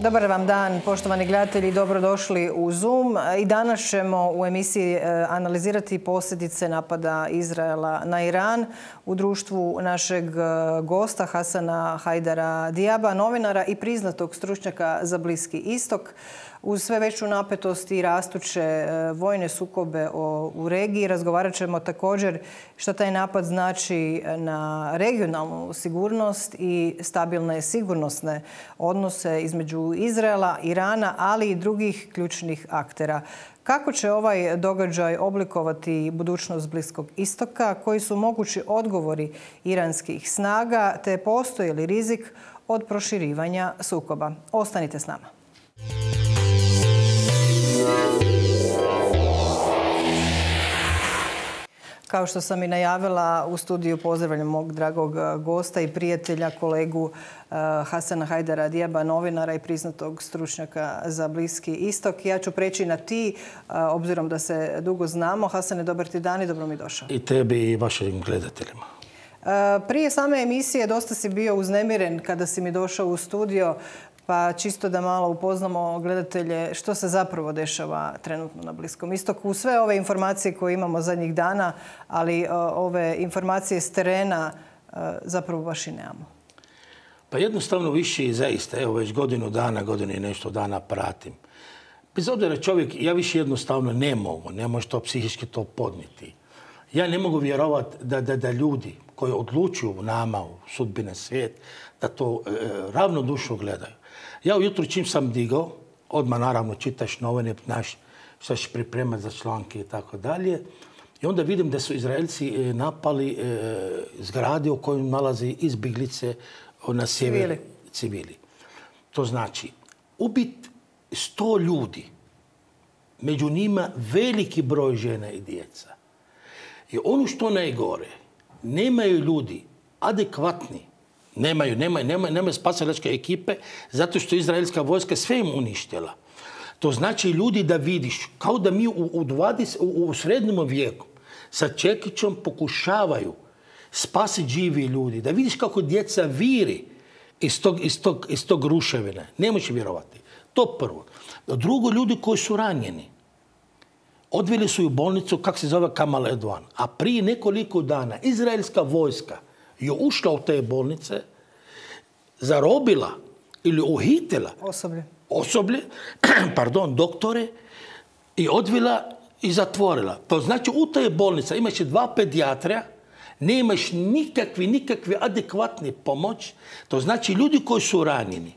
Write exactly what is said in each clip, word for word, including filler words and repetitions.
Dobar vam dan, poštovani gledatelji, dobrodošli u Zoom. I danas ćemo u emisiji analizirati posljedice napada Izraela na Iran u društvu našeg gosta Hasana Hajdara Diaba, novinara i priznatog stručnjaka za Bliski istok. Uz sve veću napetost i rastuće vojne sukobe u regiji razgovarat ćemo također što taj napad znači na regionalnu sigurnost i stabilne sigurnosne odnose između Izraela, Irana, ali i drugih ključnih aktera. Kako će ovaj događaj oblikovati budućnost Bliskog istoka, koji su mogući odgovori iranskih snaga, te postoji li rizik od proširivanja sukoba? Ostanite s nama. Kao što sam i najavila, u studiju pozdravljam mog dragog gosta i prijatelja, kolegu Hasana Hajdara Diaba, novinara i priznatog stručnjaka za Bliski istok. Ja ću preći na ti, obzirom da se dugo znamo. Hasane, dobar ti dan i dobro mi došao. I tebi i vašim gledateljima. Prije same emisije dosta si bio uznemiren kada si mi došao u studio, pa čisto da malo upoznamo gledatelje što se zapravo dešava trenutno na Bliskom istoku. Sve ove informacije koje imamo zadnjih dana, ali ove informacije s terena zapravo baš i nemamo. Pa jednostavno više i zaista, evo već godinu dana, godinu i nešto dana pratim. Bez obzira čovjek, ja više jednostavno ne mogu, ne može to psihički to podnijeti. Ja ne mogu vjerovati da, da, da ljudi koji odlučuju nama u sudbine svijet, da to e, ravnodušno gledaju. Ja ujutro čim sam digao, odmah naravno čitaš novine, znaš šta ćeš pripremati za članke i tako dalje. I onda vidim da su Izraelci napali e, zgrade u kojoj nalazi izbjeglice na sjever civili. civili. To znači, ubit sto ljudi, među njima veliki broj žena i djeca. I ono što najgore, nemaju ljudi adekvatni, Nemaju, nemaju, nemaju, nemaju spasilačke ekipe zato što izraelska vojska sve im uništila. To znači ljudi da vidiš, kao da mi u, u, dvadesetom, u, u srednjem vijeku sa čekićom pokušavaju spasiti živi ljudi. Da vidiš kako djeca viri iz tog, iz tog, iz tog ruševine. Ne možeš vjerovati. To prvo. Drugo, ljudi koji su ranjeni. Odveli su u bolnicu, kako se zove, Kamal Edwan. A prije nekoliko dana izraelska vojska je ušla u te bolnice, zarobila ili uhitila osoblje, osoblje pardon, doktore i odvila i zatvorila. To znači u te bolnice imaš dva pedijatra, nemaš nikakvi, nikakvi adekvatni pomoć. To znači ljudi koji su ranjeni,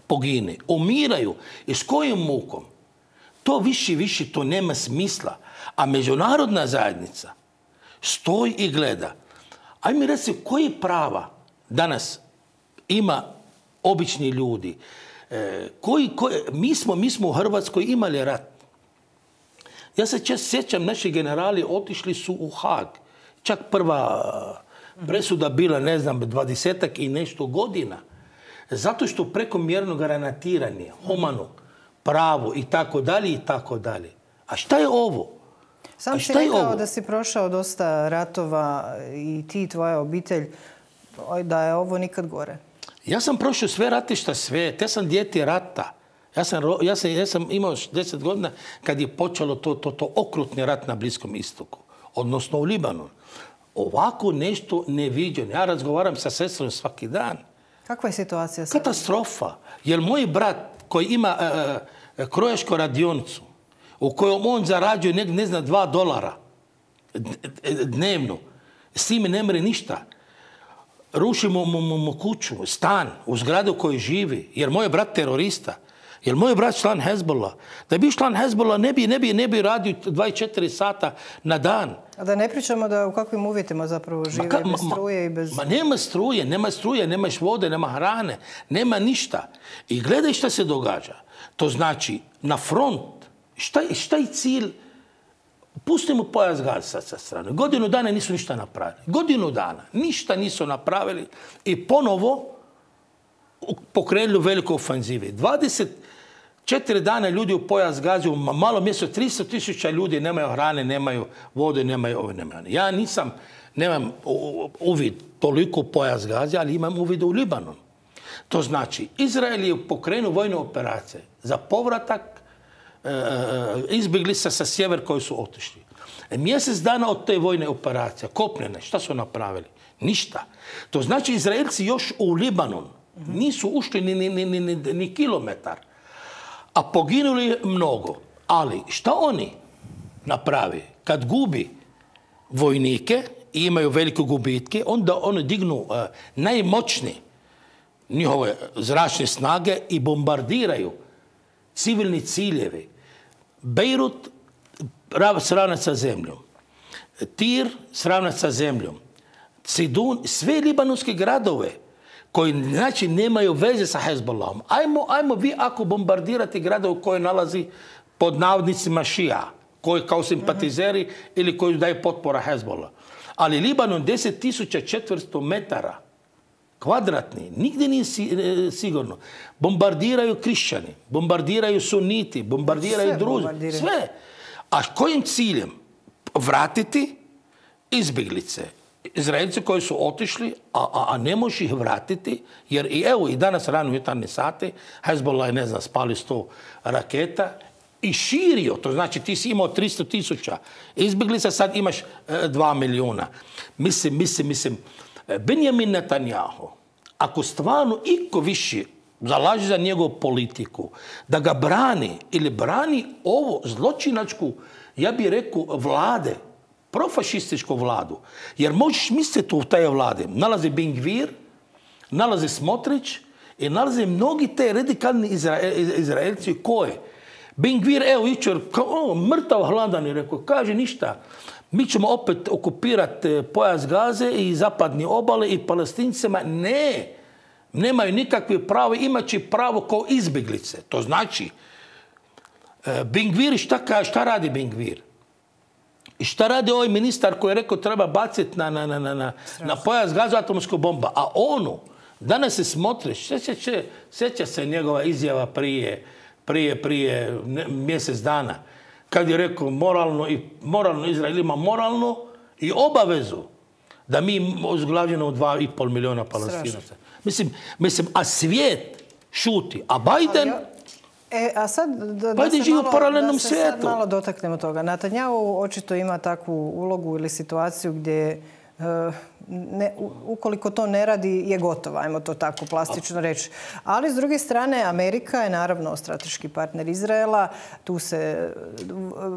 pogine, umiraju i s kojim mukom. To više, više, to nema smisla. A međunarodna zajednica stoji i gleda. Ajde mi reci, koji prava danas ima obični ljudi? E, koji, koji, mi, smo, mi smo u Hrvatskoj imali rat. Ja se čest sjećam, naši generali otišli su u Haag. Čak prva presuda bila, ne znam, dvadesetak i nešto godina. Zato što prekomjerno granatiranje, humano, pravo i tako dalje i tako dalje. A šta je ovo? Sam si rekao da si prošao dosta ratova i ti, tvoja obitelj, da je ovo nikad gore. Ja sam prošao sve ratišta sve. Te sam dijete rata. Ja sam, ja sam, ja sam imao deset godina kad je počelo to, to, to okrutni rat na Bliskom istoku. Odnosno u Libanonu. Ovako nešto neviđeno. Ja razgovaram sa sestrom svaki dan. Kakva je situacija sada? Katastrofa. Jer moj brat koji ima uh, krojašku radionicu, u kojom on zarađuje ne, ne znam, dva dolara dnevno. S time ne mre ništa. Rušimo mu, mu, mu kuću, stan, u zgradu u kojoj živi. Jer moj brat terorista. Jer moj brat član Hezbollah. Da bi član Hezbollah ne bi, ne bi, ne bi radio dvadeset četiri sata na dan. A da ne pričamo da u kakvim uvjetima zapravo žive, ma, bez struje i bez... Ma nema struje, nema struje, nemaš vode, nema hrane, nema ništa. I gledaj šta se događa. To znači, na front, Šta, šta je cilj? Pustimo pojas Gaze sa strane. Godinu dana nisu ništa napravili. Godinu dana. Ništa nisu napravili. I ponovo pokrenuli veliku ofenzivu. dvadeset četiri dana ljudi u pojas Gaze, u malo mjesto tristo tisuća ljudi nemaju hrane, nemaju vode, nemaju ove, nemaju. Ja nisam, nemam uvid toliko u pojas Gaze, ali imam uvid u Libanon. To znači, Izrael je pokrenuo vojne operacije za povratak e, izbjeglica sa sjever koji su otišli. E, mjesec dana od te vojne operacije, kopnene, šta su napravili? Ništa. To znači, Izraelci još u Libanon nisu ušli ni, ni, ni, ni, ni kilometar, a poginuli mnogo. Ali šta oni napravi? Kad gubi vojnike i imaju velike gubitke, onda oni dignu uh, najmoćnije njihove zračne snage i bombardiraju civilni ciljevi. Bejrut sravnat sa zemljom. Tir sravnat sa zemljom. Sidun, sve libanonske gradove koji znači nemaju veze sa Hezbollahom. Ajmo, ajmo vi ako bombardirate gradove koje nalazi pod navodnicima šija, koji kao simpatizeri mm-hmm. ili koji daju potpora Hezbollah. Ali Libanon deset tisuća četiristo metara kvadratni, nigdje nije sigurno. Bombardiraju krišćani, bombardiraju suniti, bombardiraju sve druzi. Bombardiraju. Sve. A kojim ciljem? Vratiti izbjeglice. Izraelci koji su otišli, a, a, a ne može ih vratiti, jer i evo i danas rano jutarnje sate, Hezbollah je, ne znam, spali sto raketa i širio. To znači ti si imao tristo tisuća izbjeglica, sad imaš e, dva milijuna. Mislim, mislim, mislim, Benjamin Netanjahu, ako stvarno iko više zalaže za njegovu politiku, da ga brani ili brani ovo zločinačku, ja bih rekao, vlade, profašističku vladu. Jer možeš misliti u taj vlade. Nalazi Ben Gvir, nalazi Smotrić i nalaze mnogi te radikalni Izrael, Izraelci koje. Ben Gvir, evo, jučer, mrtav hladan je rekao, kaže ništa. Mi ćemo opet okupirati pojas Gaze i zapadne obale i Palestincima. Ne, nemaju nikakve pravo, imat će pravo kao izbjeglice. To znači, Ben Gvir, šta, šta radi Ben Gvir? I šta radi ovaj ministar koji je rekao treba baciti na, na, na, na, na pojas Gaza atomsku bomba? A onu, danas se Smotrić, sjeća, sjeća se njegova izjava prije, prije, prije ne, mjesec dana, kad je rekao moralno, i, moralno Izrael ima moralno i obavezu da mi uzglavljeno dva i pol milijuna Palestinaca. Mislim, mislim, a svijet šuti, a Biden... E, a sad da, da, se, malo, da se sad malo dotaknemo toga. Netanjahu očito ima takvu ulogu ili situaciju gdje ne, ukoliko to ne radi je gotovo, ajmo to tako plastično reći. Ali s druge strane Amerika je naravno strateški partner Izraela. Tu se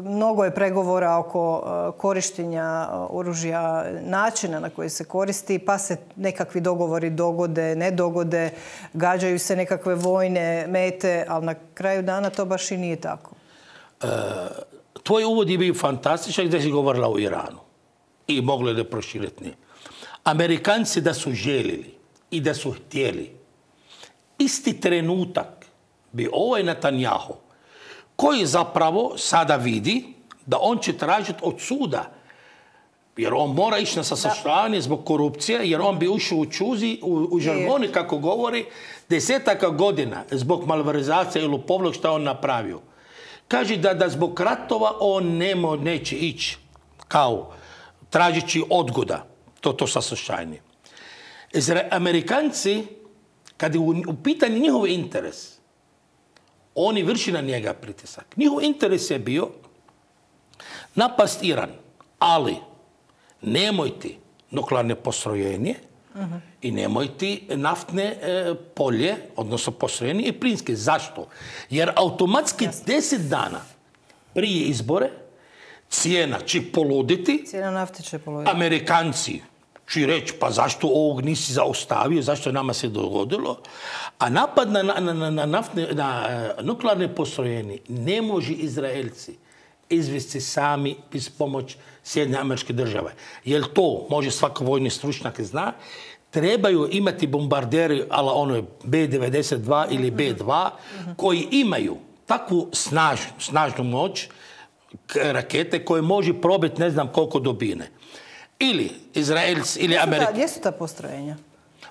mnogo je pregovora oko korištenja oružja, načina na koji se koristi, pa se nekakvi dogovori dogode, ne dogode, gađaju se nekakve vojne mete, ali na kraju dana to baš i nije tako. E, tvoj uvod je bio fantastičan gdje si govorila o Iranu. I mogli da proširiti. Amerikanci da su željeli i da su htjeli, isti trenutak bi ovaj Netanjahu, koji zapravo sada vidi da on će tražiti od suda, jer on mora ići na saslušanje zbog korupcije, jer on bi ušao u čuzi, u, u žargoni, kako govori, desetaka godina zbog malverzacije ili lopovluk što on napravio. Kaže da, da zbog ratova on nemo, neće ići kao tražići odgoda, to, to saslušanje. Amerikanci, kad je u, u pitanju njihov interes, oni vrši na njega pritisak. Njihov interes je bio napast Iran, ali nemojte nuklearne postrojenje uh-huh. i nemojte naftne e, polje, odnosno postrojenje i plinske. Zašto? Jer automatski Jasne. deset dana prije izbore cijena će poluditi. Cijena nafte će poluditi. Amerikanci će reći, pa zašto ovog nisi zaustavio, zašto nama se dogodilo. A napad na, na, na, na, naftne, na nuklearne postrojenje ne može Izraelci izvesti sami bez pomoć Sjedinjenih Američkih Država. Jer to, može svaki vojni stručnjak zna, trebaju imati bombarderi, ala ono B devedeset dva ili B dva, mm-hmm. koji imaju takvu snaž, snažnu moć, rakete koje može probiti ne znam koliko dubine. Ili Izraelci, ili Amerikanci. Gdje su ta postrojenja?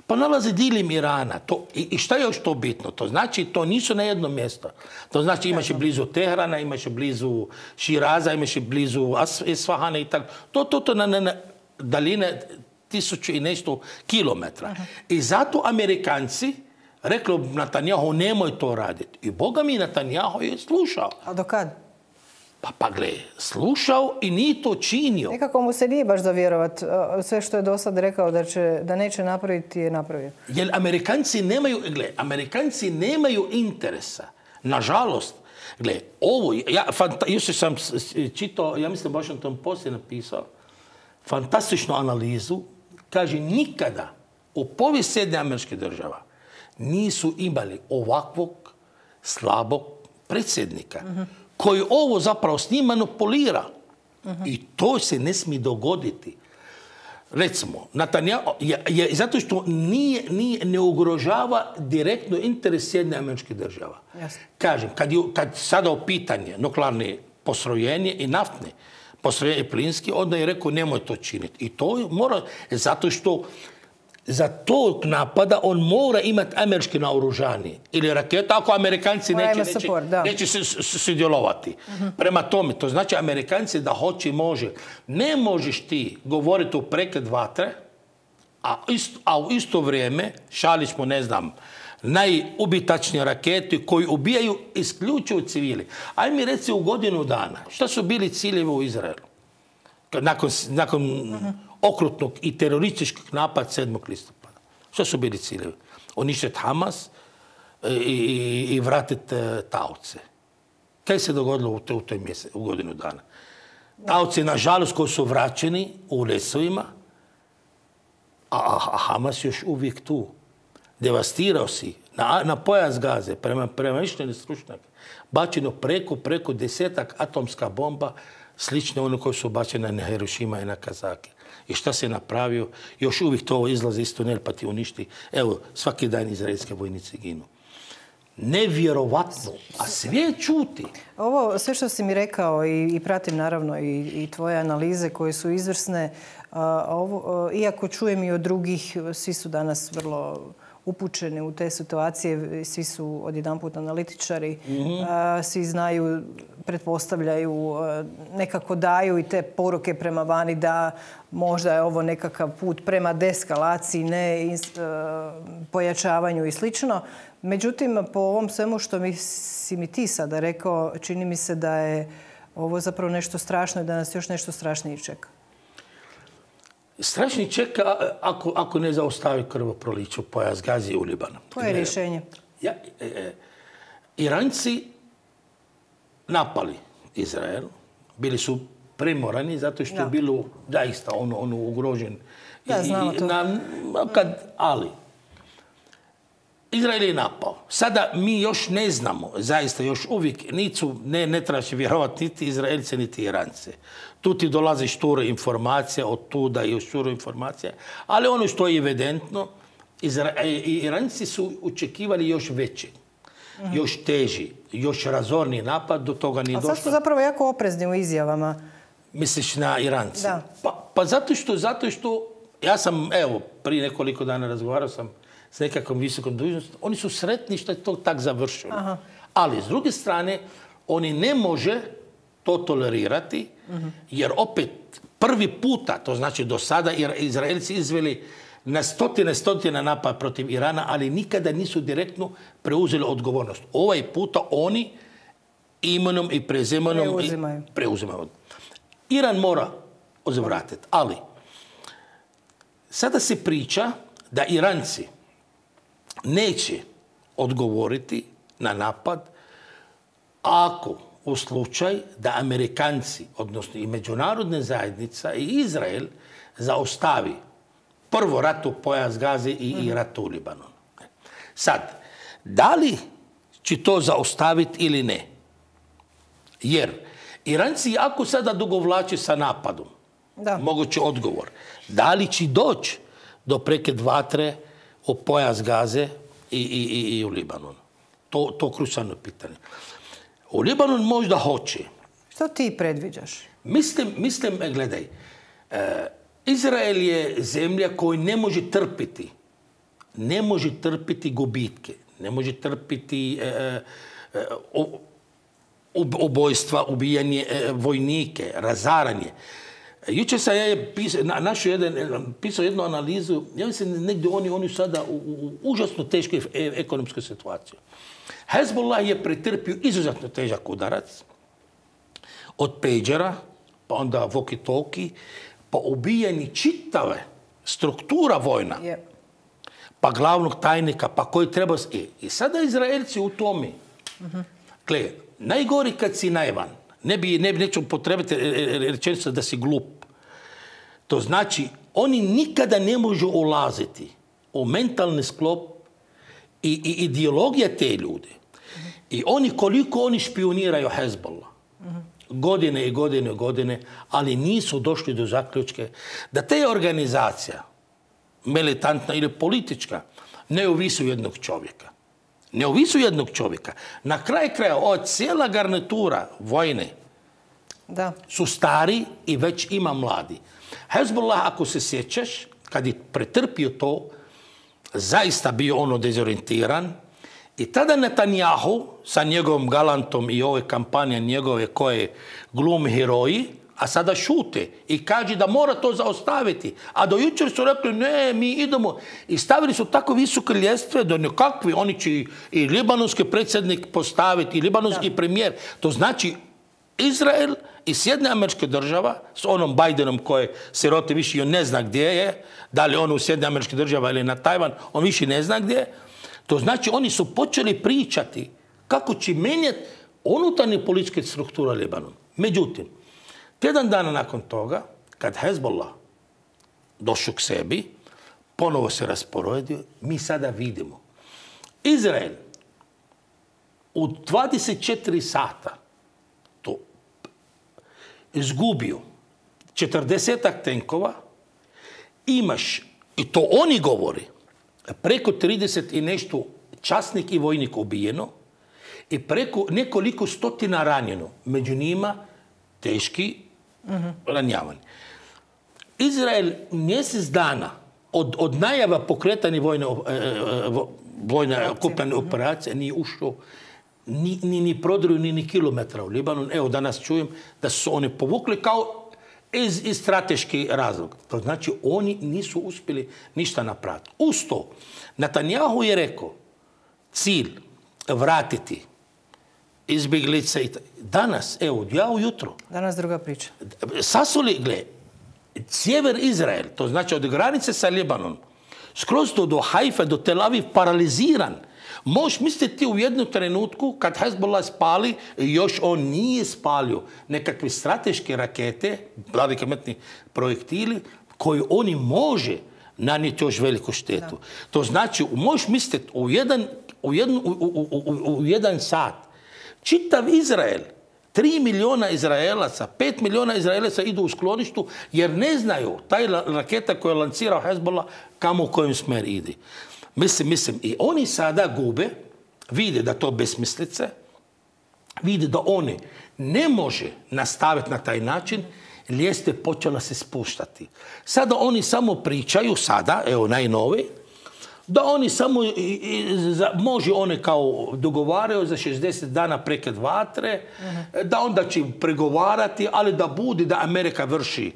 Pa nalaze dilim Irana. To, i, I šta je još to bitno? To znači, to nisu na jedno mjesto. To znači imaš blizu Teherana, imaš blizu Širaza, imaš blizu Isfahana i tako. To, to, to na, na, na daljine tisuću i nešto kilometra. Uh-huh. I zato Amerikanci reklo Netanjahu nemoj to raditi. I Boga mi Netanjahu je slušao. A do kad? Pa pa gle, slušao i nije to činio. Nekako mu se nije baš za vjerovat. Sve što je do sad rekao da, će, da neće napraviti je napravio. Jer Amerikanci nemaju, gle, Amerikanci nemaju interesa. Nažalost, gle, ovo, ja, fanta, još sam čitao, ja mislim baš na tom poslije napisao, fantastičnu analizu, kaže nikada u povijesti Sjedinjenih Američkih Država nisu imali ovakvog slabog predsjednika mm-hmm. koji ovo zapravo s njim manipulira. Mm-hmm. I to se ne smije dogoditi. Recimo, Netanjahu, je, je, zato što nije, nije, ne ugrožava direktno interes Sjedinjenih Američkih Država. Jasne. Kažem, kad, je, kad sada u pitanje nuklearne postrojenje i naftne postrojenje plinski, onda je rekao nemoj to činiti. I to mora, zato što za tog napada on mora imati američke naoružanje ili raketa, ako Amerikanci mora neće, neće, support, neće sudjelovati. Uh-huh. Prema tome, to znači Amerikanci da hoće može. Ne možeš ti govoriti u prekid vatre, a, isto, a u isto vrijeme šaljiš mu, ne znam, najubitačnije rakete koji ubijaju isključivo civili. Aj mi reci u godinu dana, šta su bili ciljevi u Izraelu? Nakon, nakon uh-huh. okrutnog i terorističkog napada sedmog listopada. Što su bili ciljevi? Uništiti Hamas i, i, i vratiti uh, taoce. Kaj se dogodilo u, u toj mjesec, u godinu dana? Taoci, nažalost, koji su vraćeni u lesovima, a, a Hamas još uvijek tu. Devastirao si na, na pojas Gaze, prema, prema mišljenju stručnjaka, bačeno preko, preko desetak atomska bomba, slične ono koje su bačene na Hirošima i na Kazaki. I šta se napravio? Još uvijek to izlazi iz tunel pa ti uništi. Evo, svaki dan izraelske vojnici ginu. Nevjerovatno. A sve čuti. Ovo, sve što si mi rekao i, i pratim naravno i, i tvoje analize koje su izvrsne, a, ovo, a, iako čujem i od drugih, svi su danas vrlo upućeni u te situacije, svi su odjedanput analitičari, mm-hmm. a, svi znaju, pretpostavljaju, nekako daju i te poruke prema vani da možda je ovo nekakav put prema deeskalaciji, ne ins, a, pojačavanju i slično. Međutim, po ovom svemu što mi, si mi ti sada rekao, čini mi se da je ovo zapravo nešto strašno i da nas još nešto strašnije čeka. Strašni čeka ako, ako ne zaustavi krvoproliće u pojas Gazi u Libanu. Koje je rješenje? Ja, e, e, Iranci napali Izrael. Bili su primorani zato što da. je bilo zaista ono, ono ugrožen. Da, znamo to. Na, kad, ali Izrael je napao. Sada mi još ne znamo, zaista još uvijek nisu, ne, ne trebaš vjerovati niti Izraelce, niti Irance. Tu ti dolaze šture informacije, od tuda i šture informacije. Ali ono što je evidentno, Izra, Iranci su očekivali još veći, mm-hmm. još teži, još razorni napad, do toga nije došlo. A sad su zapravo jako oprezni u izjavama. Misliš na Irance? Da. Pa, pa zato što, zato što, ja sam, evo, prije nekoliko dana razgovarao sam s nekakvom visokom dužnostom, oni su sretni što je to tak završilo. Aha. Ali, s druge strane, oni ne može to tolerirati, mm-hmm. jer opet prvi puta, to znači do sada Izraelci izveli na stotine, stotine napad protiv Irana, ali nikada nisu direktno preuzeli odgovornost. Ovaj puta oni imenom i prezimenom preuzimaju. I preuzimaju. Iran mora uzvratiti, ali sada se priča da Iranci neće odgovoriti na napad ako u slučaj da Amerikanci, odnosno i međunarodna zajednica i Izrael zaustavi prvo rat u pojas Gaze i, mm-hmm. i rat u Libanonu. Sad, da li će to zaustaviti ili ne? Jer Iranci jako sada dugovlače sa napadom. Da. Mogući odgovor. Da li će doći do prekid vatre u pojas Gaze i, i, i, i u Libanonu? To, to krucijalno pitanje. U Libanon možda hoće. Što ti predviđaš? Mislim, mislim gledaj, e, Izrael je zemlja koja ne može trpiti. Ne može trpiti gubitke. Ne može trpiti e, e, ubojstva, ubijanje e, vojnike, razaranje. Jučer sam ja pisao, našao jedan, pisao jednu analizu, ja mislim negdje oni, oni sada u, u užasno teškoj ekonomskoj situaciji. Hezbollah je pretrpio izuzetno težak udarac od pejđera, pa onda walkie-talkie, pa ubijeni čitave struktura vojna, yeah. pa glavnog tajnika, pa koji treba... I, i sada Izraelci u tome. Mm-hmm. Gle, najgori kad si naivan, ne bi, ne bi neću potrebiti rečenicu da si glup. To znači, oni nikada ne možu ulaziti u mentalni sklop i, i ideologija te ljude. Mm-hmm. I oni, koliko oni špioniraju Hezbollah, mm-hmm. godine i godine i godine, ali nisu došli do zaključke da te organizacija, militantna ili politička, ne ovisi jednog čovjeka. Ne ovisi jednog čovjeka. Na kraj kraja, od cijela garnitura vojne da. Su stari i već ima mladi. Hezbollah, ako se sjećaš, kad je pretrpio to, zaista bio ono dezorientiran. I tada Netanjahu sa njegovom galantom i ove kampanje njegove koje glumi heroji, a sada šute i kaže da mora to zaustaviti. A do jučer su rekli ne, mi idemo. I stavili su tako visoke ljestve da nekakvi, oni će i libanonski predsjednik postaviti, i libanonski da. Premijer. To znači Izrael i Sjedinjene Američke Država s onom Bidenom koje se roti više on ne zna gdje je, da li on u Sjedinjene Američke Država ili na Tajvan, on više ne zna gdje je. To znači oni su počeli pričati kako će mijenjati unutarnje političke strukture Libanona. Međutim, tjedan dana nakon toga, kad Hezbollah došao k sebi, ponovo se rasporedio, mi sada vidimo. Izrael u dvadeset četiri sata to izgubio četrdesetak tenkova, imaš, i to oni govori, preko trideset i nešto časnik i vojnik ubijeno i preko nekoliko stotina ranjeno. Među njima teški mm-hmm. ranjavanje. Izrael mjesec dana od, od najava pokretanja vojne, vojne okupljene operacije nije ušao ni, ni, ni prodruju ni, ni kilometra u Libanon. Evo danas čujem da su oni povukli kao iz, iz strateški razlog. To znači oni nisu uspjeli ništa napraviti. Uz to, Netanjahu je rekao cilj vratiti izbjeglice i danas, evo, ja ujutro. Danas druga priča. Sasuli, gle, sjever Izrael, to znači od granice sa Libanon, skroz do, do Haifa, do Tel Aviv, paraliziran. Možeš misliti u jednu trenutku, kad Hezbollah spali, još on nije spalio nekakve strateške rakete, velikometni projektili, koji oni može nanijeti još veliku štetu. Da. To znači, možeš misliti u jedan, u, jednu, u, u, u, u jedan sat, čitav Izrael, tri milijuna Izraelaca, pet milijuna Izraelaca idu u skloništu jer ne znaju taj raketa koja je lancirao Hezbollah kamo u kojem smer ide. Mislim, mislim, i oni sada gube, vide da to besmislice, vide da oni ne može nastaviti na taj način, ljestve počela se spuštati. Sada oni samo pričaju, sada, evo najnovi, da oni samo, i, i, za, može one kao dogovaraju za šezdeset dana prekid vatre, uh-huh. da onda će pregovarati, ali da bude da Amerika vrši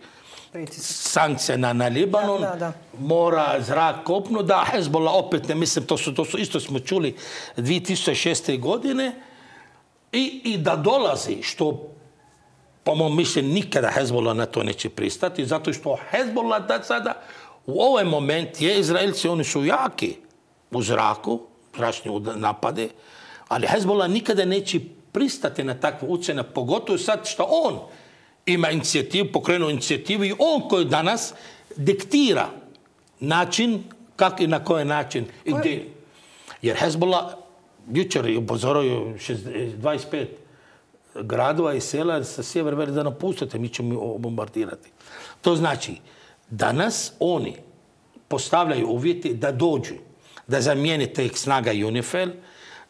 sankcije na, na Libanon, da, da, da. Mora zrak kopno, da Hezbollah opet, ne mislim, to su, to su isto smo čuli dvije tisuće šeste. godine, i, i da dolazi, što po mom mišljenju nikada Hezbollah na to neće pristati, zato što Hezbollah da sada u ovaj moment je Izraelci, oni su jaki u zraku, zračni napade, ali Hezbollah nikada neće pristati na takvu ucjenu, pogotovo sad što on ima inicijativu, pokrenuo inicijativu i on koji danas diktira način, kako i na koji način. I gdje. Jer Hezbollah jučer je upozorio dvadeset pet gradova i sela sa sjever veli da napustite, mi ćemo bombardirati. To znači, danas oni postavljaju uvjeti da dođu, da zamijene te snaga UNIFIL,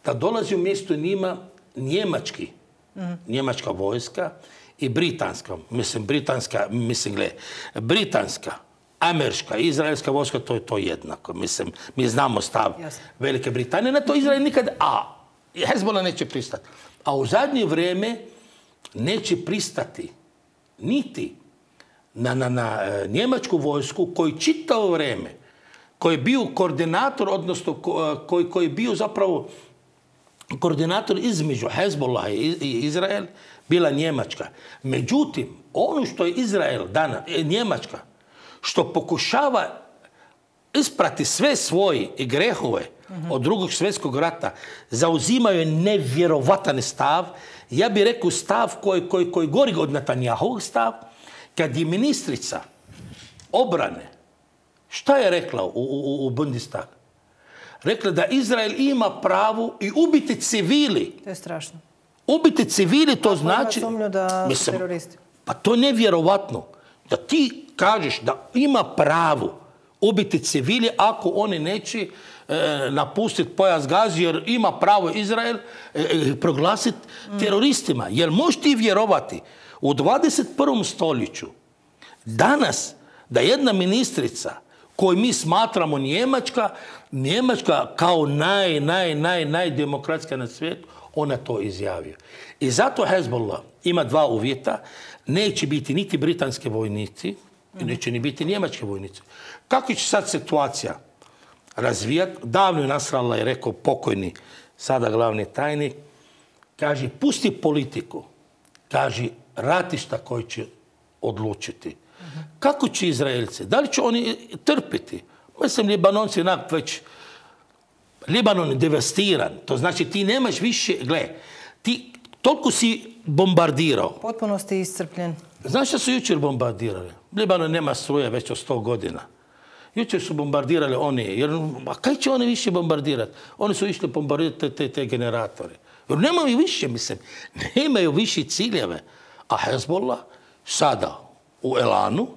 da dolazi u mjesto njima njemački, mm. njemačka vojska i britanska, mislim, britanska, mislim, gle, britanska, američka, izraelska vojska, to je to jednako. Mislim, mi znamo stav Jasne. Velike Britanije, na to Izrael nikad, a Hezbollah neće pristati. A u zadnje vrijeme neće pristati niti na, na, na njemačku vojsku koji čitavo vrijeme, koji je bio koordinator, odnosno koji, koji je bio zapravo koordinator između Hezbollah i Izrael, bila Njemačka. Međutim, ono što je Izrael danas, Njemačka, što pokušava isprati sve svoje grehove od drugog svjetskog rata, zauzimaju nevjerovatan stav. Ja bih rekao stav koji, koji, koji gori od Netanjahovog stav, kad je ministrica obrane, šta je rekla u, u, u Bundestagu? Rekla da Izrael ima pravo i ubiti civili. To je strašno. Ubiti civili, to znači... Sumnju da su teroristi. Pa to je nevjerovatno. Da ti kažeš da ima pravo ubiti civili ako oni neće e, napustiti pojas Gaze, jer ima pravo Izrael e, proglasiti mm. teroristima. Jer možeš ti vjerovati u dvadeset prvom stoljeću danas da jedna ministrica koju mi smatramo Njemačka, Njemačka kao naj, naj, naj, najdemokratska na svijetu, ona to izjavio. I zato Hezbollah ima dva uvjeta. Neće biti niti britanske vojnici, i neće ni biti njemačke vojnici. Kako će sad situacija razvijati? Davno je Nasrallah je rekao, pokojni, sada glavni tajnik, kaže, pusti politiku. Kaže, ratišta koji će odlučiti. Kako će Izraelci? Da li će oni trpiti? Mislim, Libanonci onak već... Libanon je devastiran. To znači ti nemaš više... Gle, ti toliko si bombardirao. Potpuno si iscrpljen. Znaš što su jučer bombardirali? Libanon nema struje već od sto godina. Jučer su bombardirali oni. Jer, a kaj će oni više bombardirati? Oni su išli bombardirati te, te, te generatore. Jer nemaju više, mislim. Nemaju više ciljeve. A Hezbollah sada u elanu,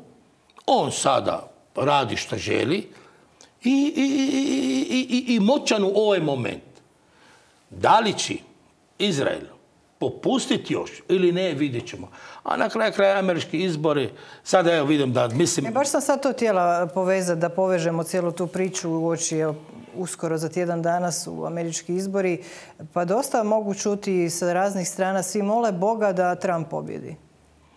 on sada radi što želi i, i, i, i, i moćan u ovaj moment. Da li će Izrael popustiti još ili ne, vidjet ćemo. A na kraju kraja američki izbori, sada evo vidim da mislim... E, baš sam sad to htjela povezati, da povežemo cijelu tu priču u oči, evo, uskoro za tjedan dana su američki izbori, pa dosta mogu čuti sa raznih strana, svi mole Boga da Trump pobjedi.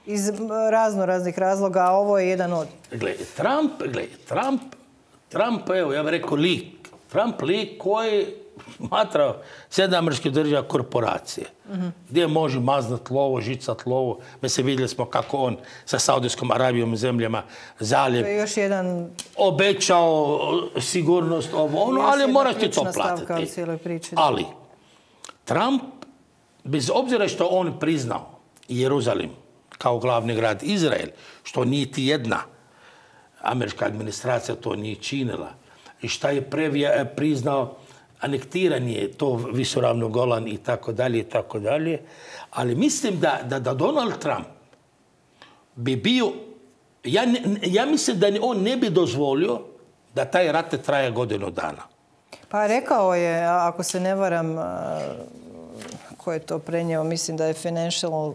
Iz razno raznih razloga, a ovo je jedan od... Gle, Trump, gle, Trump, Trump, evo, ja bih rekao lik. Trump lik koji smatra Sjedinjene Američke Države korporacije. Mm-hmm. Gdje može maznat lovo, žicat lovo. Mi se vidjeli smo kako on sa Saudijskom Arabijom i zemljama zaljev. To je još jedan... Obećao sigurnost ovo, ono, ali moraš ti to platiti. Priči, ali Trump, bez obzira što on priznao Jeruzalim kao glavni grad Izrael, što niti jedna američka administracija to nije činila, i šta je previja priznao anektiranje to visoravno Golan i tako dalje i tako dalje. Ali mislim da, da, da Donald Trump bi bio, ja, ne, ja mislim da on ne bi dozvolio da taj rat traje godinu dana. Pa rekao je, ako se ne varam, ko je to prenio, mislim da je Financial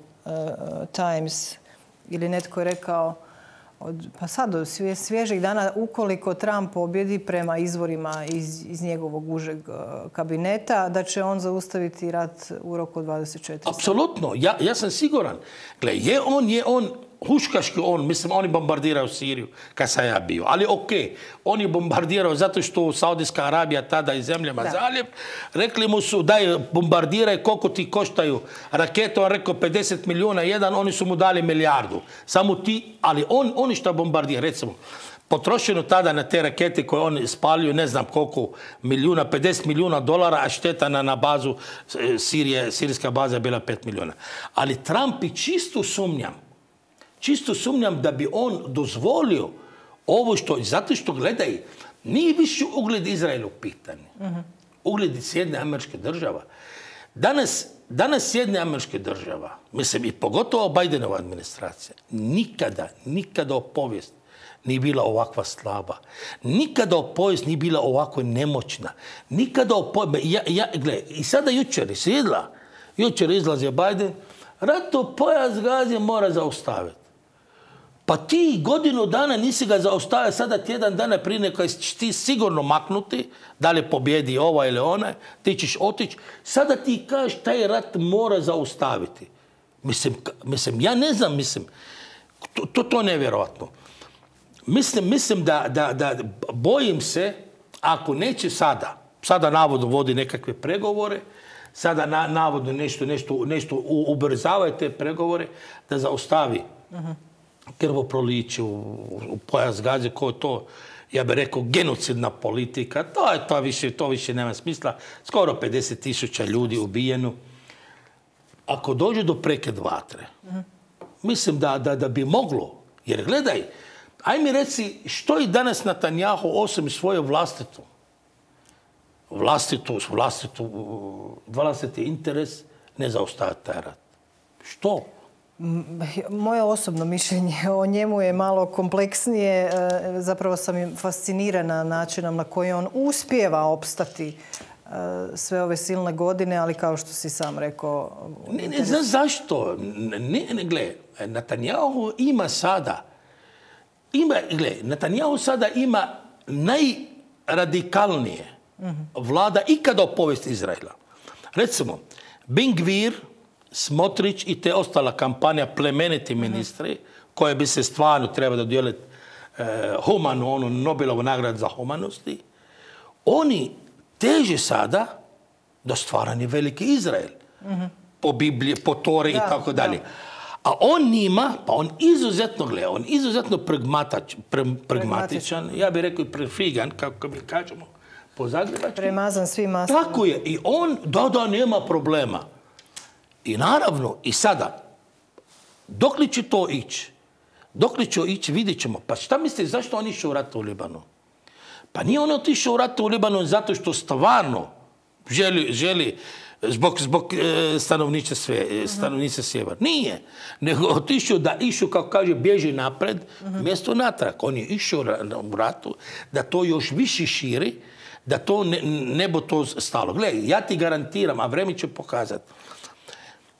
Times ili netko je rekao, od, pa sad od svježih dana, ukoliko Trump pobjedi prema izvorima iz, iz njegovog užeg kabineta, da će on zaustaviti rat u roku od dvadeset četiri sata. Apsolutno. Ja, ja sam siguran. Gle, je on, je on huškaški on, mislim, oni bombardiraju Siriju kad sam ja bio. Ali okej, okay, oni bombardiraju zato što Saudijska Arabija tada i zemljama zaljev. Rekli mu su daj bombardiraj koliko ti koštaju rakete. On rekao pedeset milijuna jedan, oni su mu dali milijardu. Samo ti, ali on, oni što bombardira, recimo, potrošeno tada na te rakete koje oni spaljuju, ne znam koliko milijuna, pedeset milijuna dolara, a šteta na, na bazu Sirije, sirijska baza je bila pet milijuna. Ali Trump i čisto sumnjam, čisto sumnjam da bi on dozvolio ovo što, zato što gledaj, nije više ugled Izraela u pitanju. Uh-huh. Ugled Sjedinjenih Američkih Država. Danas, danas Sjedinjene Američke Države, mislim i pogotovo Bidenova administracija, nikada, nikada u povijesti nije bila ovakva slaba. Nikada u povijesti nije bila ovako nemoćna. Nikada u povijesti... Ja, ja, gle, i sada jučer je sjedla, jučer izlazi Biden, rato pojas Gaze mora zaustaviti. Pa ti godinu dana nisi ga zaustavio, sada tjedan dana prije neka ćeš ti sigurno maknuti, da li pobjedi ova ili ona, ti ćeš otići. Sada ti kažeš taj rat mora zaustaviti. Mislim, mislim, ja ne znam, mislim, To, to, to je nevjerojatno. Mislim, mislim da, da, da bojim se, ako neće sada, sada navodno vodi nekakve pregovore, sada na, navodno nešto, nešto, nešto ubrzavaju te pregovore, da zaustavi uh-huh. krvoproliće u, u pojas Gaze, ko to, ja bih rekao, genocidna politika. To, je, to, više, to više nema smisla. Skoro pedeset tisuća ljudi ubijeno. Ako dođe do prekid vatre, uh-huh. mislim da, da, da bi moglo, jer gledaj, aj mi reci, što je danas Netanjahu osim svoje vlastitu, vlastitu, vlastitu, vlastiti interes, ne zaustaviti taj rat? Što? Moje osobno mišljenje o njemu je malo kompleksnije. Zapravo sam im fascinirana načinom na koji on uspijeva opstati sve ove silne godine, ali kao što si sam rekao... Ne, ne znam zašto. Ne, ne, gle, Netanjahu ima sada Ima, gle, Netanjahu sada ima najradikalnije mm-hmm. vlada ikada u povijesti Izraela. Recimo, Ben Gvir, Smotrić i te ostala kampanja plemeniti ministri, mm-hmm. koje bi se stvarno treba dodijeliti eh, humanu, onu Nobelovu nagradu za humanosti, oni teže sada do stvaranja veliki Izrael. Mm-hmm. Po Bibliji, po Tori i tako dalje. A on njima, pa on izuzetno gleda, on izuzetno pragmatač, pre, pragmatičan, ja bih rekao i prefigan, kako mi kažemo po zagrebački. Premazan svim maslima. Tako je. I on, da, da, nema problema. I naravno, i sada, dok li će to ići? Dok li će ići, vidjet ćemo. Pa šta mislite, zašto on išao u rat u Libanu? Pa nije on otišao u rat u Libanu zato što stvarno želi, želi Zbog, zbog e, stanovnice, sve, stanovnice sjevera. Nije. Nego otišao da išao, kako kaže, bježi napred, uh-huh. mjesto natrag. On je išao u ratu da to još više širi, da to ne, ne bo to stalo. Gledaj, ja ti garantiram, a vreme će pokazati.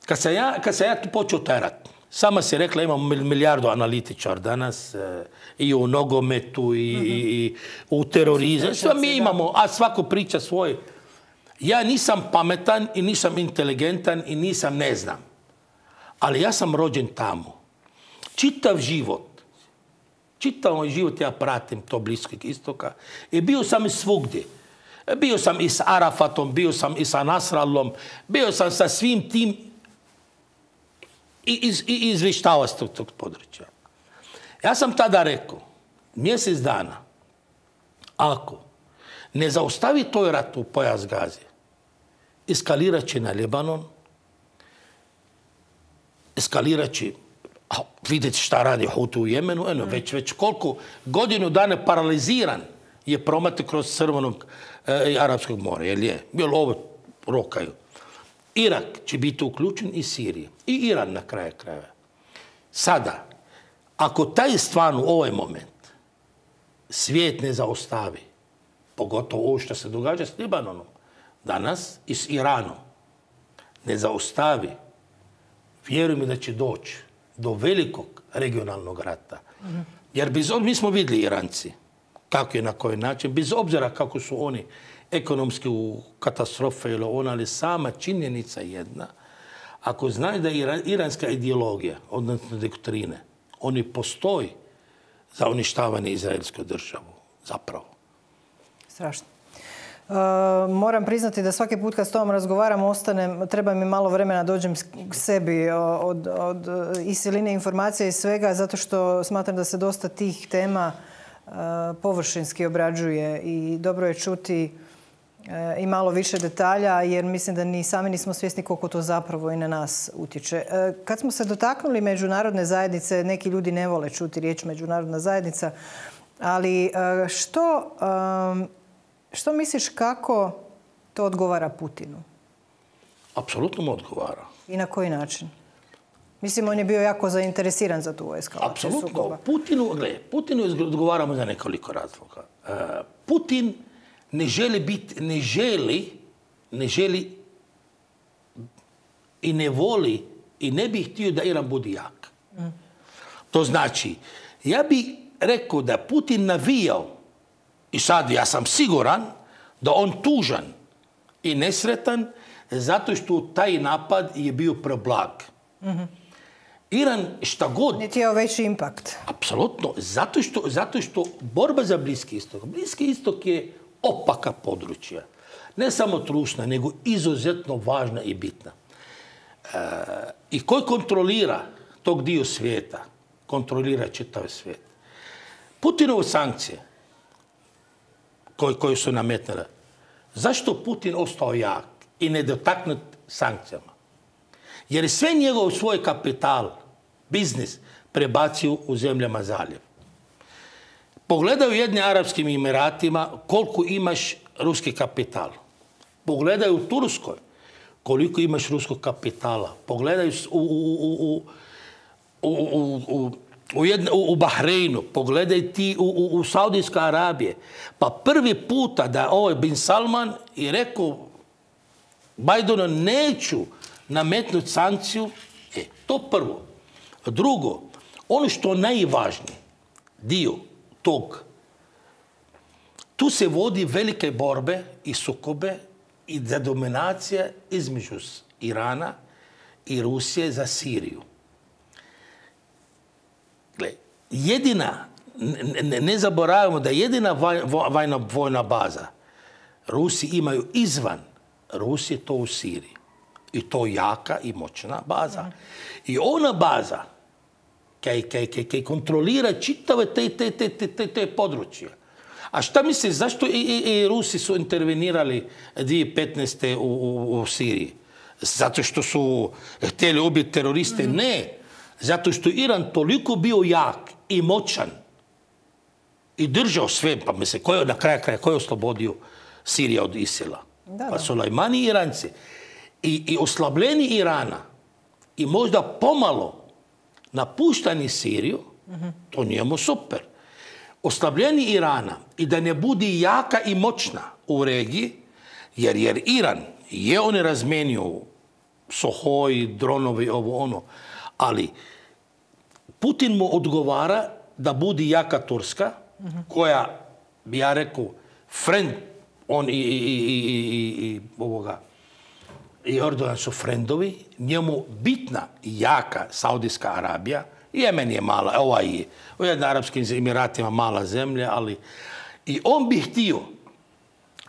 Kad sam ja, kad sam ja tu počeo taj rat, sama si rekla, imamo milijardu analitičar danas, e, i u nogometu, i, uh-huh. i, i u terorizmu. Sve mi imamo, a svako priča svoj. Ja nisam pametan i nisam inteligentan i nisam ne znam. Ali ja sam rođen tamo. Čitav život, čitav moj život ja pratim to Bliskog istoka. I bio sam i svugdje. Bio sam i s Arafatom, bio sam i sa Nasrallom, bio sam sa svim tim i, iz, i izvještavao s tog, tog područja. Ja sam tada rekao, mjesec dana, ako ne zaustavi toj rat u pojas Gaze, eskalirat će na Libanon, eskalirat će, vidjeti šta radi Hutu u Jemenu, eno, mm. već, već koliko godinu dana paraliziran je promet kroz Crvenog e, Arapskog mora, jel je? Jel ovo rokaju? Irak će biti uključen i Sirija. I Iran na kraju krajeva. Sada, ako taj stvarno u ovaj moment svijet ne zaustavi, pogotovo ovo što se događa s Libanonom danas i s Iranom, ne zaustavi, vjeruj mi da će doći do velikog regionalnog rata. Mm-hmm. Jer bez, mi smo vidjeli Iranci kako je na koji način, bez obzira kako su oni ekonomski u katastrofe ili ona, ali sama činjenica jedna, ako znaju da je iranska ideologija, odnosno doktrine, oni postoji za uništavanje izraelske države, zapravo. Strašno. Uh, moram priznati da svaki put kad s tobom razgovaram, ostanem, treba mi malo vremena dođem k sebi od, od i siline informacija i svega, zato što smatram da se dosta tih tema uh, površinski obrađuje i dobro je čuti uh, i malo više detalja, jer mislim da ni sami nismo svjesni koliko to zapravo i na nas utječe. Uh, kad smo se dotaknuli međunarodne zajednice, neki ljudi ne vole čuti riječ međunarodna zajednica, ali uh, što... Um, Što misliš kako to odgovara Putinu? Apsolutno mu odgovara. I na koji način? Mislim, on je bio jako zainteresiran za tu eskalaciju sukoba. Apsolutno. Putinu, gledaj, Putinu odgovaramo za nekoliko razloga. Uh, Putin ne želi biti, ne želi, ne želi i ne voli i ne bi htio da Iran bude jak. Mm. To znači, ja bih rekao da Putin navijao, i sad ja sam siguran da on tužan i nesretan zato što taj napad je bio preblag. Mm-hmm. Iran šta god... Niti je veći impakt. Apsolutno. Zato što, zato što borba za Bliski istok. Bliski istok je opaka područja. Ne samo trušna, nego izuzetno važna i bitna. E, I koji kontrolira tog dio svijeta, kontrolira čitav svijet. Putinove sankcije koje, koje su nametnile, zašto Putin ostao jak i nedotaknut sankcijama? Jer je sve njegov svoj kapital, biznis, prebacio u zemljama zaljev. Pogledaj u jednim Arapskim Emiratima koliko imaš ruski kapital. Pogledaj u Turskoj koliko imaš ruskog kapitala. Pogledaj u, u, u, u, u, u, u, jedne, u, u Bahreinu. Pogledaj ti u, u, u Saudijska Arabije. Pa prvi puta da ovaj Bin Salman je rekao Bidenu neću nametnuti sankciju. E, to prvo. Drugo, ono što je najvažnije dio tog, tu se vodi velike borbe i sukobe i za dominacija između Irana i Rusije za Siriju. Gle, jedina, ne, ne zaboravimo da jedina vojna, vojna baza Rusi imaju izvan Rusije, to u Siriji. I to jaka i moćna baza. I ona baza kaj, kaj, kaj, kaj kontrolira čitave te, te, te, te, te područje. A šta misliš, zašto i, i, i Rusi su intervenirali dvije tisuće petnaeste u, u, u Siriji? Zato što su htjeli ubiti teroriste? Mm. Ne. Zato što Iran toliko bio jak i moćan i držao sve, pa mislim, ko je na kraju kraja, ko je oslobodio Sirija od Isila? Da, pa Sulejmani i Iranci. I, i oslabljeni Irana i možda pomalo napuštani Siriju, mm-hmm. to njemu super. Oslabljeni Irana i da ne bude jaka i moćna u regiji, jer, jer Iran je on razmenio Sohoj, dronovi, ovo ono, ali Putin mu odgovara da bude jaka Turska, mm-hmm. koja, bi ja rekao, friend, on i, i, i, i, i ovoga, i Erdogan su frendovi, njemu bitna i jaka Saudijska Arabija, Jemen je mala, ovaj je, u jednim Arapskim Emiratima mala zemlja, ali i on bi htio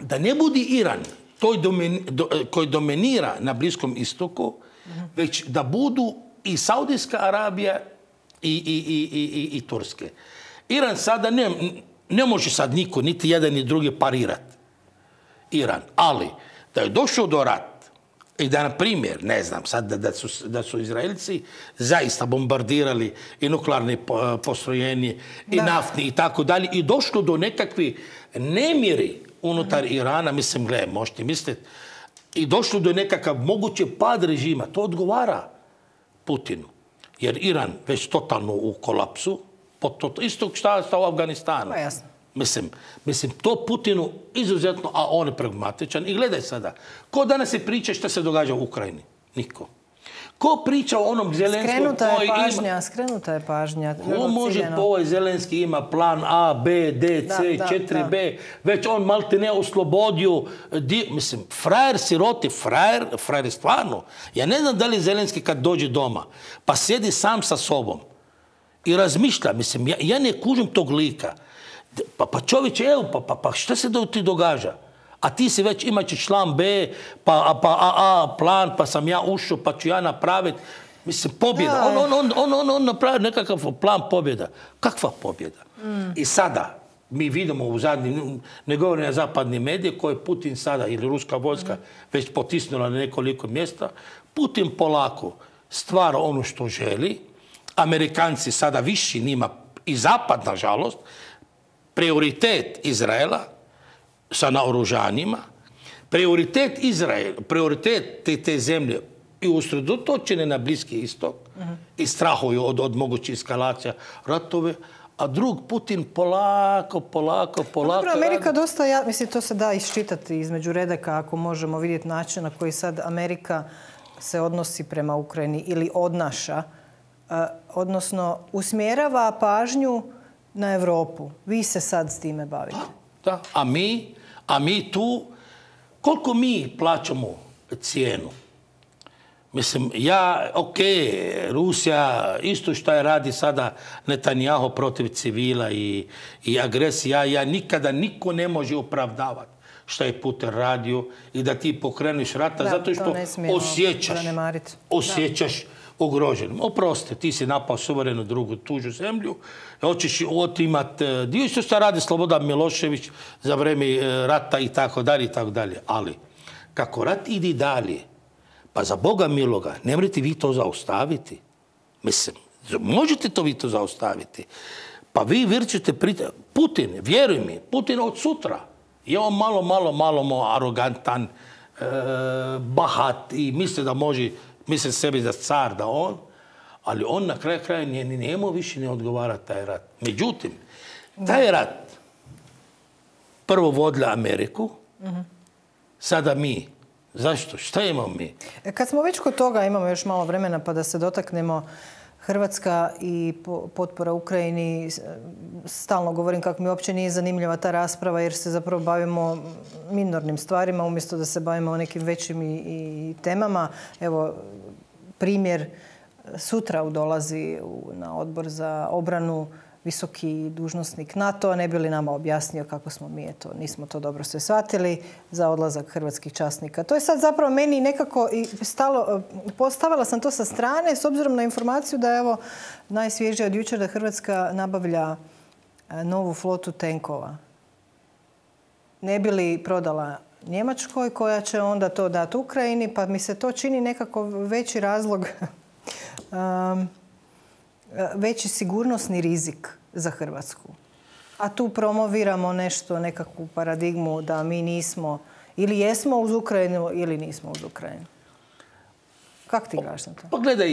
da ne bude Iran toj domen, do, koji dominira na Bliskom istoku, mm-hmm. već da budu i Saudijska Arabija i, i, i, i, i Turske. Iran sada ne, ne može sad niko, niti jedan ni drugi parirati. Iran, ali da je došao do rata i da, na primjer, ne znam, sad da, da, su, da su Izraelci zaista bombardirali i nuklearne postrojenje i da. naftni i tako dalje i došlo do nekakvi nemiri unutar mm-hmm. Irana, mislim, gle, možete misliti, i došlo do nekakav moguće pad režima, to odgovara Putinu. Jer Iran već totalno u kolapsu, to, isto šta sta u Afganistanu. Pa jasno. Mislim, mislim, to Putinu izuzetno, a on je pragmatičan. I gledaj sada, ko danas se priča šta se događa u Ukrajini? Niko. Ko priča o onom Zelenskom skrenuta koji je pažnja, ima... Skrenuta je pažnja. Ko može po ovaj Zelenski ima plan A, B, D, C, da, četiri B. Da. Već on malte ne oslobodio. Di, mislim, frajer siroti, frajer, frajer je stvarno. Ja ne znam da li Zelenski kad dođe doma, pa sjedi sam sa sobom i razmišlja. Mislim, ja, ja ne kužim tog lika. Pa, pa čovječe, evo, pa, pa, pa šta se do, ti događa? A ti si već imaći član B, pa, pa A, A plan, pa sam ja ušao, pa ću ja napraviti. Mislim, pobjeda. On, on, on, on, on, on napravi nekakav plan pobjeda. Kakva pobjeda? Mm. I sada, mi vidimo u zadnjim, ne govorim na zapadni medije, koje Putin sada, ili ruska vojska, mm. već potisnula na nekoliko mjesta, Putin polako stvara ono što želi. Amerikanci sada viši njima, i zapad, nažalost, prioritet Izraela sa naoružanjima, prioritet Izrael, prioritet te, te zemlje i usredotočene na Bliski istok uh-huh. i strahuju od, od mogućih eskalacija ratove, a drug Putin polako, polako, polako... Dobro, Amerika radi. Dosta, ja, mislim, to se da iščitati između redaka ako možemo vidjeti način na koji sad Amerika se odnosi prema Ukrajini ili odnaša, uh, odnosno usmjerava pažnju na Europu. Vi se sad s time bavite. Da, da. A mi, a mi tu, koliko mi plaćamo cijenu? Mislim, ja, ok, Rusija, isto što je radi sada Netanjahu protiv civila i, i agresija, ja nikada niko ne može opravdavati što je Putin radio i da ti pokreniš rata, da, zato što osjećaš, osjećaš ugroženim. Oprosti, ti si napao suverenu drugu tuđu zemlju, hoćeš otimati dio što se radi Slobodan Milošević za vrijeme rata i tako dalje i tako dalje. Ali, kako rat ide dalje, pa za Boga miloga, ne morate vi to zaustaviti. Mislim, možete to vi to zaustaviti. Pa vi vrćete prita... Putin, vjeruj mi, Putin od sutra je on malo, malo, malo arogantan, e, bahat i misli da može, misli sebi da car, da on, ali on na kraju kraja njemu više ne odgovara taj rat. Međutim, taj rat prvo vodila Ameriku, uh-huh. sada mi. Zašto? Šta imamo mi? Kad smo već kod toga, imamo još malo vremena pa da se dotaknemo Hrvatska i potpora Ukrajini. Stalno govorim kako mi uopće nije zanimljiva ta rasprava jer se zapravo bavimo minornim stvarima umjesto da se bavimo nekim većim i, i temama. Evo, primjer, sutra dolazi na odbor za obranu visoki dužnosnik NATO-a, ne bi li nama objasnio kako smo mi, eto, nismo to dobro sve shvatili, za odlazak hrvatskih časnika. To je sad zapravo meni nekako stalo, postavila sam to sa strane s obzirom na informaciju da je evo najsvježija od jučer da Hrvatska nabavlja novu flotu tenkova. Ne bi li prodala Njemačkoj koja će onda to dati Ukrajini, pa mi se to čini nekako veći razlog um, veći sigurnosni rizik za Hrvatsku. A tu promoviramo nešto, nekakvu paradigmu da mi nismo ili jesmo uz Ukrajinu ili nismo uz Ukrajinu. Kako ti gledaš na to? Pa gledaj,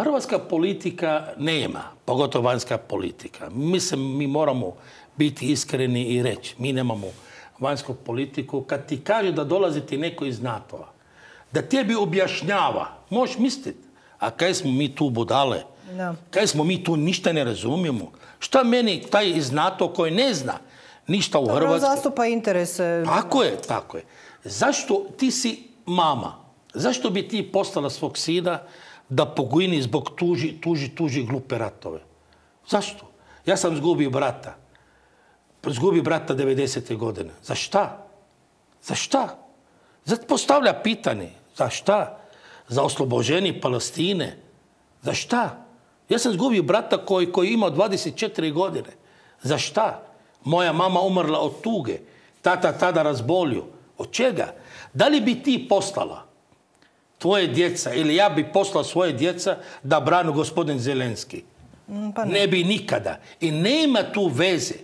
hrvatska politika nema, pogotovo vanjska politika. Mislim, mi moramo biti iskreni i reći, mi nemamo vanjsku politiku. Kad ti kaže da dolazi ti neko iz NATO-a, da tebi objašnjava, možeš misliti, a kaj smo mi tu budale? No. Kaj smo mi tu ništa ne razumijemo? Šta meni taj iz NATO koji ne zna ništa u Dobro, Hrvatskoj? Zastupa interese. Tako je, tako je. Zašto ti si mama? Zašto bi ti poslala svog sina da pogini zbog tuži, tuži, tuži glupe ratove? Zašto? Ja sam zgubio brata. Zgubio brata devedesete godine. Za šta? Za šta? Zato postavlja pitanje. Za šta? Za oslobođenje Palestine? Za šta? Ja sam zgubio brata koji, koji imao dvadeset četiri godine. Za šta? Moja mama umrla od tuge. Tata tada razbolio. Od čega? Da li bi ti poslala tvoje djeca ili ja bi poslao svoje djeca da branu gospodin Zelenski? Pa ne. ne bi nikada. I nema tu veze.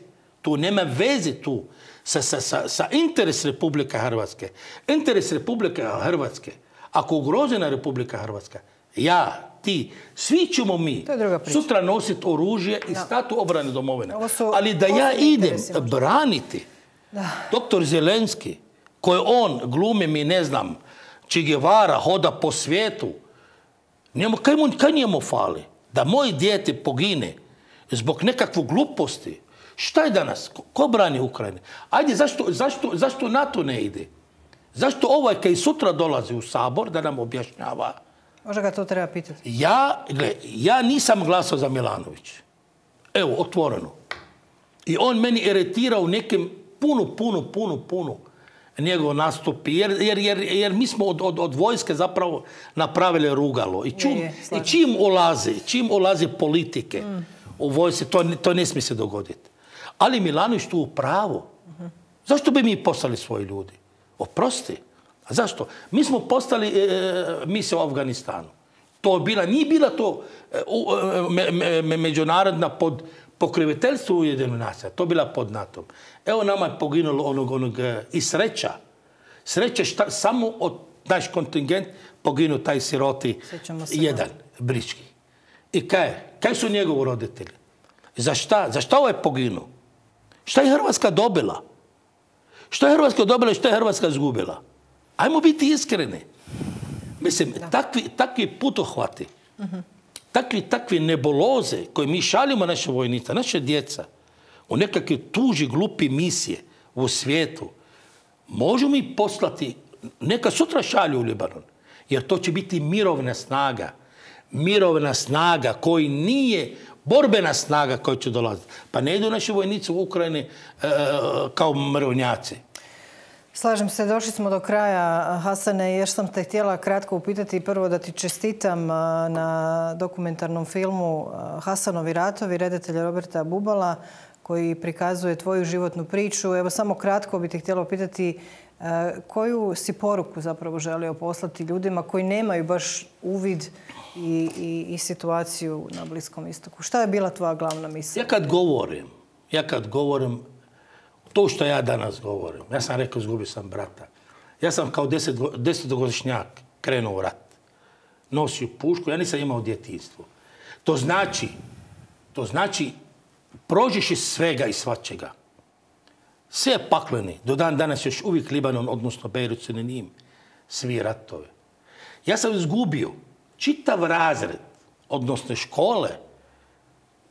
Tu nema veze tu sa, sa, sa, sa interes Republike Hrvatske. Interes Republike Hrvatske. Ako ugrožena Republika Hrvatska, ja, ti, svi ćemo mi sutra nositi oružje i stati u obrani domovine. Ali da ja idem braniti da. doktor Zelenski, koji on glumi mi, ne znam, Che Guevara, hoda po svijetu, njemu, kaj, mu, kaj njemu fali? Da moje dijete pogine zbog nekakvu gluposti. Šta je danas? Ko, ko brani Ukrajine? Ajde, zašto, zašto, zašto NATO ne ide? Zašto ovaj kaj sutra dolazi u Sabor da nam objašnjava? Možda ga to treba pitati. Ja, gle, ja nisam glasao za Milanović. Evo, otvoreno. I on meni iritira u nekim puno, puno, puno, puno njegov nastupi. Jer, jer, jer, jer mi smo od, od, od vojske zapravo napravili rugalo. I, čum, je, je, i čim ulazi, čim ulazi politike mm. u vojske, to, to ne smije se dogoditi. Ali Milanović tu u pravu. Uh-huh. Zašto bi mi poslali svoji ljudi? Oprosti. A zašto? Mi smo postali e, misija u Afganistanu. To bila, nije bila to e, me, me, me, međunarodna pod pokriviteljstvo Ujedinjenih nacija. To bila pod NATO-om. Evo nama je poginulo onog, onog e, i sreća. Sreća šta, samo od naš kontingent poginu taj siroti jedan, brički. I kaj? Kaj su njegovi roditelji? Za šta? Za šta ovo je poginuo? Šta je Hrvatska dobila? Šta je Hrvatska dobila i šta je Hrvatska izgubila? Ajmo biti iskreni. Mislim, takvi, takvi putohvati, uh-huh. takvi, takvi nebuloze koje mi šaljimo naše vojnice, naše djeca, u nekakve tuži glupi misije u svijetu, možemo mi poslati, neka sutra šalju u Libanon. Jer to će biti mirovna snaga. Mirovna snaga koji nije borbena snaga koja će dolaziti. Pa ne idu naši vojnici u Ukrajini e, kao mirovnjaci. Slažem se, došli smo do kraja, Hasane, još sam te htjela kratko upitati prvo da ti čestitam na dokumentarnom filmu Hasanovi ratovi, redatelja Roberta Bubala, koji prikazuje tvoju životnu priču. Evo, samo kratko bi te htjela upitati koju si poruku zapravo želio poslati ljudima koji nemaju baš uvid i, i, i situaciju na Bliskom istoku. Šta je bila tvoja glavna misla? Ja kad govorim, ja kad govorim to što ja danas govorim, ja sam rekao izgubio sam brata. Ja sam kao deset, desetogodišnjak krenuo u rat. Nosio pušku, ja nisam imao djetinjstvo. To znači, to znači prođeš iz svega i svačega. Sve je pakleni. Do dan danas još uvijek Libanon, odnosno Bejrut, se ne njim. Svi ratove. Ja sam izgubio čitav razred, odnosno škole,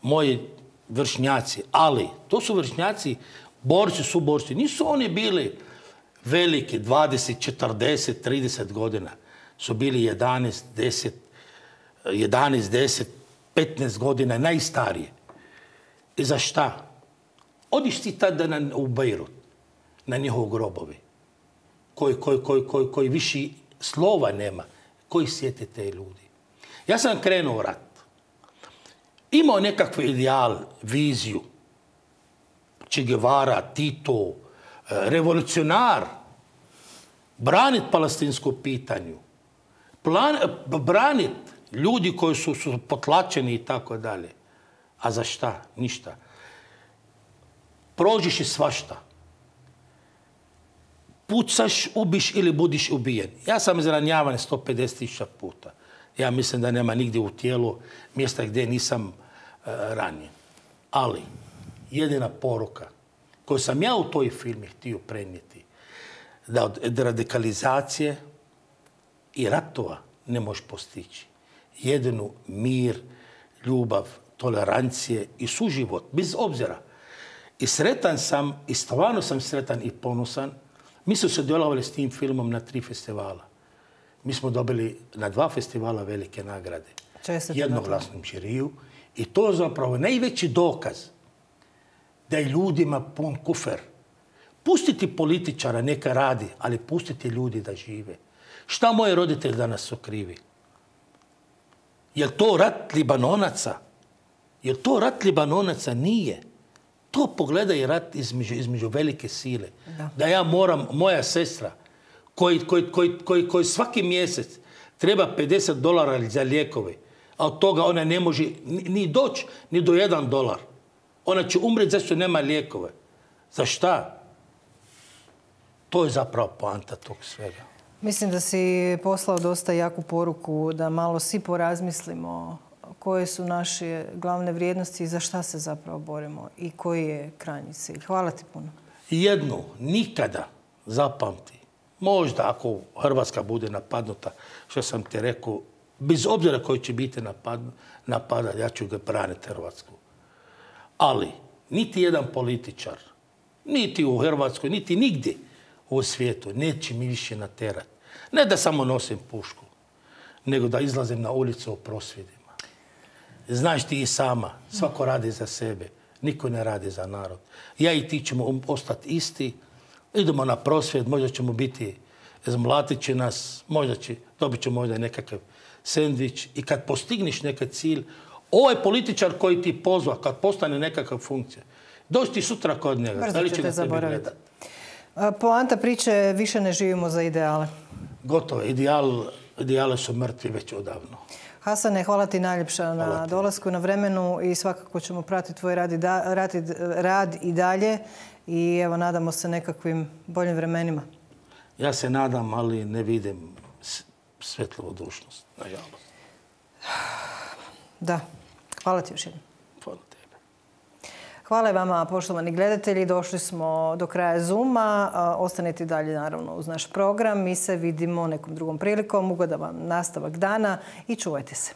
moji vršnjaci, ali to su vršnjaci, borci su borci. Nisu oni bili veliki, dvadeset, četrdeset, trideset godina. Su bili jedanaest, deset, jedanaest, deset, petnaest godina, najstarije. I za šta? Odiš ti tada na, u Bejrut, na njihov grobovi, koji, koji, koji, koji, koji više slova nema, koji sjete te ljudi. Ja sam krenuo u rat. Imao nekakvi ideal, viziju. Che Guevara, Tito, revolucionar, branit palestinsko pitanju, plan, branit ljudi koji su, su potlačeni i tako dalje. A za šta? Ništa. Prođeš i svašta. Pucaš, ubiš ili budiš ubijen. Ja sam izranjavan sto pedeset tisuća puta. Ja mislim da nema nigdje u tijelu mjesta gdje nisam uh, ranjen. Ali jedina poruka koju sam ja u toj filmi htio prenijeti, da od radikalizacije i ratova ne možeš postići. Jedinu mir, ljubav, tolerancije i suživot, bez obzira. I sretan sam, i stvarno sam sretan i ponosan. Mi smo sudjelovali s tim filmom na tri festivala. Mi smo dobili na dva festivala velike nagrade. Jednoglasnom žiriju. I to je zapravo najveći dokaz da je ljudima pun kufer. Pustiti političara neka radi, ali pustiti ljudi da žive. Šta moji roditelji danas su krivi? Je li to rat Libanonaca? Je li to rat Libanonaca? Nije. To pogledaj rat između, između velike sile. Da. da ja moram, moja sestra, koji, koji, koji, koji, koji svaki mjesec treba pedeset dolara za lijekove, a od toga ona ne može ni, ni doći ni do jedan dolar. Ona će umreti zašto nema lijekove. Za šta? To je zapravo poanta tog svega. Mislim da si poslao dosta jaku poruku da malo svi porazmislimo koje su naše glavne vrijednosti i za šta se zapravo borimo i koji je krajnji cilj. Hvala ti puno. Jednu, nikada zapamti. Možda ako Hrvatska bude napadnuta, što sam ti rekao, bez obzira koji će biti napadan, ja ću ga braniti Hrvatsku. Ali niti jedan političar, niti u Hrvatskoj, niti nigdje u svijetu neće mi više naterati. Ne da samo nosim pušku, nego da izlazim na ulicu u prosvjedima. Znaš ti i sama, svako radi za sebe, niko ne radi za narod. Ja i ti ćemo ostati isti, idemo na prosvjed, možda ćemo biti, zmlatit će nas, možda će, dobit ćemo možda nekakav sendvič i kad postigniš nekakav cilj, ovaj političar koji ti pozva, kad postane nekakva funkcija, doći ti sutra kod njega. Brzo ćete zaboraviti. Poanta priče, više ne živimo za ideale. Gotovo. Ideal, ideale su mrtvi već odavno. Hasane, hvala ti najljepša na dolasku, na vremenu i svakako ćemo pratiti tvoj rad i, da, rad, rad i dalje i evo, nadamo se nekakvim boljim vremenima. Ja se nadam, ali ne vidim svetlovodušnost, nažalost. Da. Hvala ti još jednom. Hvala tebe. Hvala i vama, poštovani gledatelji. Došli smo do kraja Zooma. Ostanite dalje, naravno, uz naš program. Mi se vidimo nekom drugom prilikom. Ugodan vam nastavak dana i čuvajte se.